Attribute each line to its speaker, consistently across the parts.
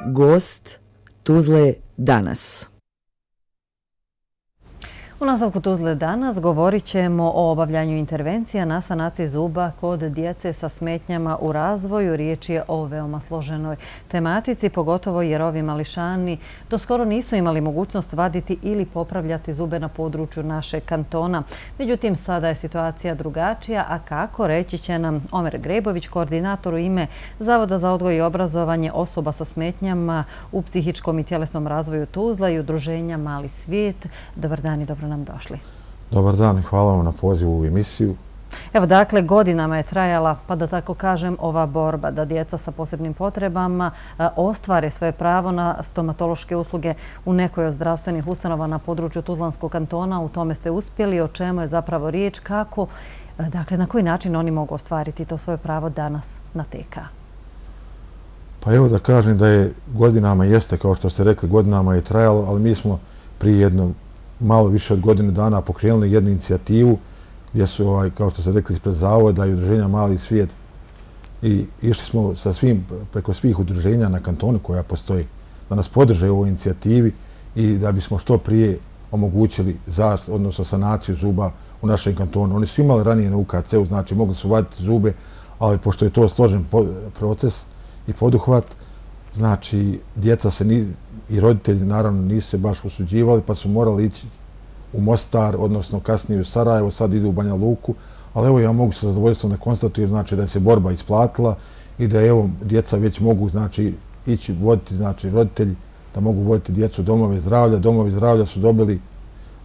Speaker 1: Gost Tuzle danas.
Speaker 2: U nastavku Tuzle danas govorit ćemo o obavljanju intervencija na sanaciji zuba kod djece sa smetnjama u razvoju. Riječ je o veoma složenoj tematici, pogotovo jer ovi mališani doskoro nisu imali mogućnost vaditi ili popravljati zube na području našeg kantona. Međutim, sada je situacija drugačija, a kako reći će nam Omer Grebović, koordinator u ime Zavoda za odgoj i obrazovanje osoba sa smetnjama u psihičkom i tjelesnom razvoju Tuzla i udruženja Mali svijet. Dobar dan i dobro nam došli.
Speaker 3: Dobar dan i hvala vam na pozivu u emisiju.
Speaker 2: Evo, dakle, godinama je trajala, pa da tako kažem, ova borba da djeca sa posebnim potrebama ostvare svoje pravo na stomatološke usluge u nekoj od zdravstvenih ustanova na području Tuzlanskog kantona. U tome ste uspjeli. O čemu je zapravo riječ? Kako, dakle, na koji način oni mogu ostvariti to svoje pravo danas na TK?
Speaker 3: Pa evo da kažem da je godinama, jeste kao što ste rekli, godinama je trajalo, ali mi smo prije jednom malo više od godine dana pokrenuli jednu inicijativu gdje su, kao što ste rekli, ispred Zavoda i udruženja Mali svijet i išli smo sa svim, preko svih udruženja na kantonu koja postoji, da nas podrže u ovoj inicijativi i da bismo što prije omogućili odnosno sanaciju zuba u našem kantonu. Oni su imali ranije na UKC-u, znači mogli su vaditi zube, ali pošto je to složen proces i poduhvat, znači djeca se i roditelji naravno nisu se baš usuđivali, pa su morali ići u Mostar, odnosno kasnije u Sarajevo, sad idu u Banja Luku, ali evo ja mogu sa zadovoljstvom da konstatujem, znači da se borba isplatila i da evo djeca već mogu, znači, ići voditi, znači roditelji da mogu voditi djecu u domove zdravlja. Domovi zdravlja su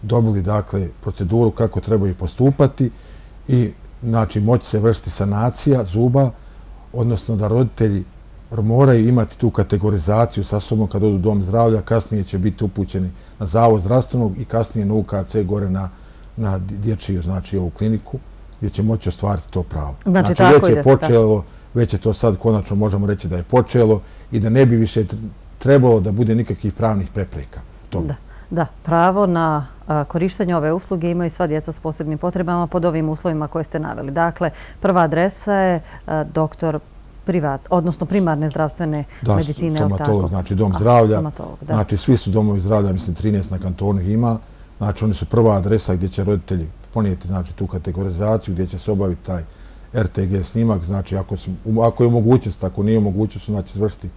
Speaker 3: dobili dakle proceduru kako trebaju postupati i znači moći se vršiti sanacija zuba, odnosno da roditelji moraju imati tu kategorizaciju sa sobom kad odu u dom zdravlja, kasnije će biti upućeni na Zavod zdravstvenog i kasnije na UKC gore na dječju, znači ovu kliniku, gdje će moći ostvariti to pravo.
Speaker 2: Znači
Speaker 3: već je počelo, već je to sad konačno možemo reći da je počelo i da ne bi više trebalo da bude nikakvih pravnih prepreka.
Speaker 2: Da, pravo na korištenje ove usluge imaju sva djeca s posebnim potrebama pod ovim uslovima koje ste naveli. Dakle, prva adresa je doktor odnosno primarne zdravstvene medicine.
Speaker 3: Da, stomatolog, znači dom zdravlja. Znači svi su domovi zdravlja, mislim 13 na kantonu ima. Znači oni su prva adresa gdje će roditelji ponijeti znači tu kategorizaciju, gdje će se obaviti taj RTG snimak. Znači ako je mogućnost, ako nije mogućnost, znači izvršiti,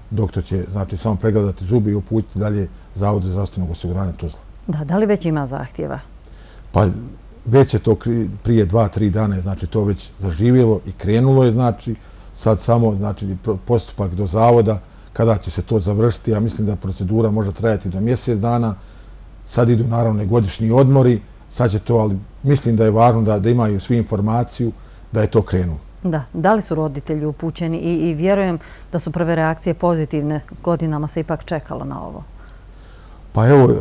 Speaker 3: doktor će znači samo pregledati zubi i uputiti dalje Zavodu zdravstvenog osiguranja Tuzla.
Speaker 2: Da li već ima zahtjeva?
Speaker 3: Pa već je to prije 2-3 dana, znači to već zaživjelo i krenulo je, znači sad samo znači postupak do Zavoda, kada će se to završiti. Ja mislim da procedura može trajati do mjesec dana. Sad idu naravno godišnji odmori, sad će to, ali mislim da je važno da imaju svi informaciju da je to krenulo.
Speaker 2: Da li su roditelji upućeni i vjerujem da su prve reakcije pozitivne, godinama se ipak čekalo na ovo?
Speaker 3: Pa evo,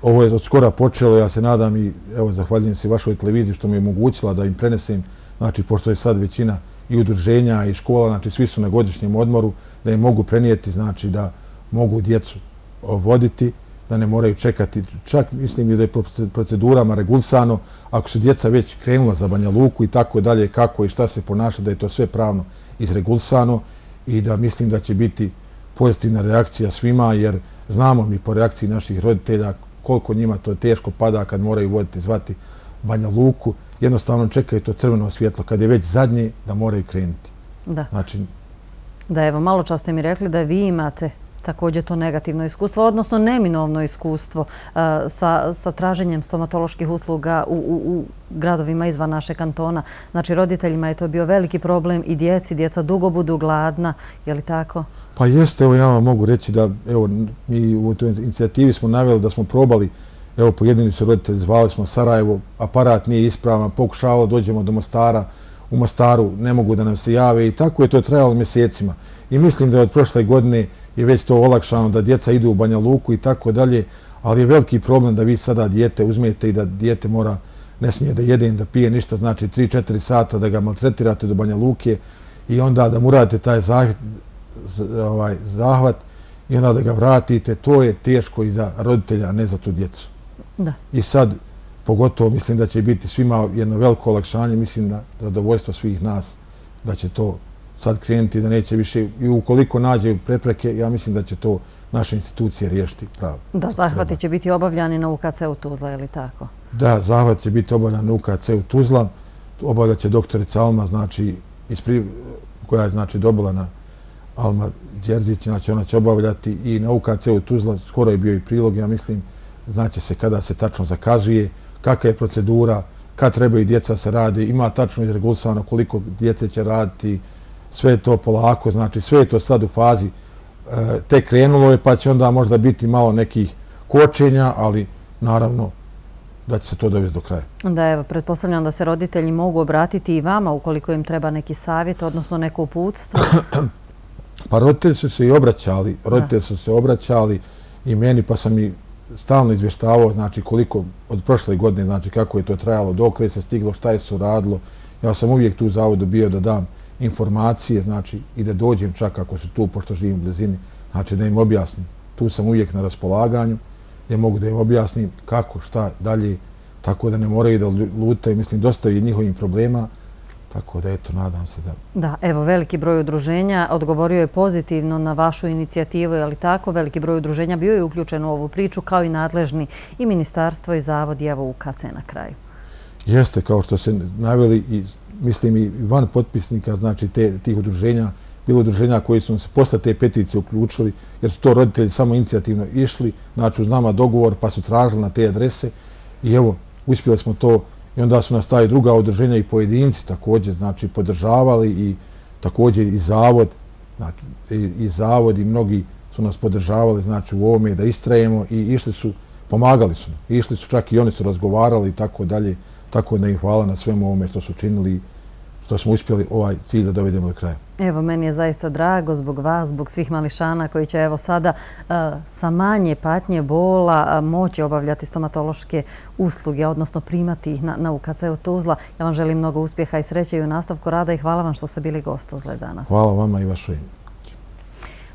Speaker 3: ovo je od skora počelo, ja se nadam i evo zahvaljujem se vašoj televiziji što mi je omogućila da im prenesem, znači pošto je sad većina i udruženja i škola, znači svi su na godišnjem odmoru, da im mogu prenijeti, znači da mogu djecu voditi, da ne moraju čekati. Čak mislim i da je procedurama regulisano, ako su djeca već krenula za Banja Luku i tako dalje, kako i šta se ponaša, da je to sve pravno izregulisano i da mislim da će biti pozitivna reakcija svima, jer znamo mi po reakciji naših roditelja koliko njima to teško pada kad moraju voditi, zvati Banja Luku. Jednostavno čekaju to crveno svjetlo kad je već zadnje da moraju krenuti.
Speaker 2: Da, evo, malo čas ste mi rekli da vi imate također to negativno iskustvo, odnosno neminovno iskustvo sa traženjem stomatoloških usluga u gradovima izvan našeg kantona. Znači, roditeljima je to bio veliki problem i djeca dugo budu gladna, je li tako?
Speaker 3: Pa jeste, evo ja vam mogu reći da, evo, mi u toj inicijativi smo naveli da smo probali, evo, pojedini su roditelji, zvali smo Sarajevo, aparat nije ispravan, pokušavalo, dođemo do Mostara, u Mostaru ne mogu da nam se jave i tako je to trajalo mjesecima. I mislim da je od prošle godine je već to olakšano da djeca idu u Banja Luku i tako dalje, ali je veliki problem da vi sada dijete uzmete i da dijete ne smije da jede, da pije ništa, znači 3-4 sata da ga maltretirate do Banja Luke i onda da mu radite taj zahvat i onda da ga vratite, to je teško i za roditelja, a ne za tu djecu. I sad, pogotovo mislim da će biti svima jedno veliko olakšanje, mislim na zadovoljstvo svih nas da će to sad krenuti, da neće više, i ukoliko nađe prepreke, ja mislim da će to naše institucije riješiti pravo.
Speaker 2: Da, zahvati će biti obavljani na UKC-u Tuzla, je li tako?
Speaker 3: Da, zahvat će biti obavljan na UKC-u Tuzla, obavljat će doktorica Alma, znači, koja je znači dobila na Alma Đerzić, znači ona će obavljati i na UKC-u Tuzla, skoro je bio i prilog, ja mislim, znači se kada se tačno zakazuje, kakva je procedura, kad trebaju djeca se radi, ima tačno izregulsano koliko djece će raditi, sve je to polako, znači sve je to sad u fazi, tek krenulo je, pa će onda možda biti malo nekih kočenja, ali naravno da će se to dovesti do kraja.
Speaker 2: Da, evo, pretpostavljam da se roditelji mogu obratiti i vama ukoliko im treba neki savjet, odnosno neko uputstvo.
Speaker 3: Pa roditelji su se obraćali i meni, pa sam i stalno izvještavao, znači koliko od prošle godine, znači kako je to trajalo, dokle je se stiglo, šta je se uradilo. Ja sam uvijek tu u zavodu bio da dam informacije, znači i da dođem čak ako su tu, pošto živim u blizini, znači da im objasnim. Tu sam uvijek na raspolaganju, gdje mogu da im objasnim kako, šta dalje, tako da ne moraju da lutaju. Mislim, dosta je njihovim problema, tako da eto, nadam se da...
Speaker 2: Da, evo, veliki broj udruženja odgovorio je pozitivno na vašu inicijativu, ali tako, veliki broj udruženja bio je uključen u ovu priču, kao i nadležni i ministarstvo i zavod i evo UKC na kraju.
Speaker 3: Jeste, kao što se naveli, i mislim i van potpisnika, znači tih udruženja, bilo udruženja koji su se posle te peticije uključili, jer su to roditelji samo inicijativno išli, znači uz nama dogovor, pa su tražili na te adrese i evo, uspjeli smo to. I onda su nas taj druga udruženja i pojedinci također, znači, podržavali i također i zavod i mnogi su nas podržavali, znači, u ovome da istrajemo i išli su, pomagali su. Išli su, čak i oni su razgovarali i tako dalje, tako da im hvala na svemu ovome što su činili, što smo uspjeli ovaj cilj da dovedemo do kraja.
Speaker 2: Evo, meni je zaista drago zbog vas, zbog svih mališana koji će evo sada sa manje patnje, bola moći obavljati stomatološke usluge, odnosno primati ih na UKC-u Tuzla. Ja vam želim mnogo uspjeha i sreće i u nastavku rada i hvala vam što ste bili gost Tuzle danas.
Speaker 3: Hvala vama i vašoj.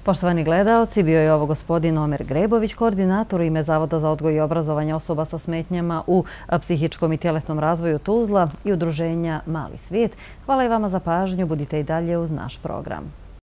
Speaker 2: Poštovani gledaoci, bio je ovo gospodin Omer Grebović, koordinator u ime Zavoda za odgoj i obrazovanje osoba sa smetnjama u psihičkom i tjelesnom razvoju Tuzla i udruženja Mali svijet. Hvala i vama za pažnju, budite i dalje uz naš program.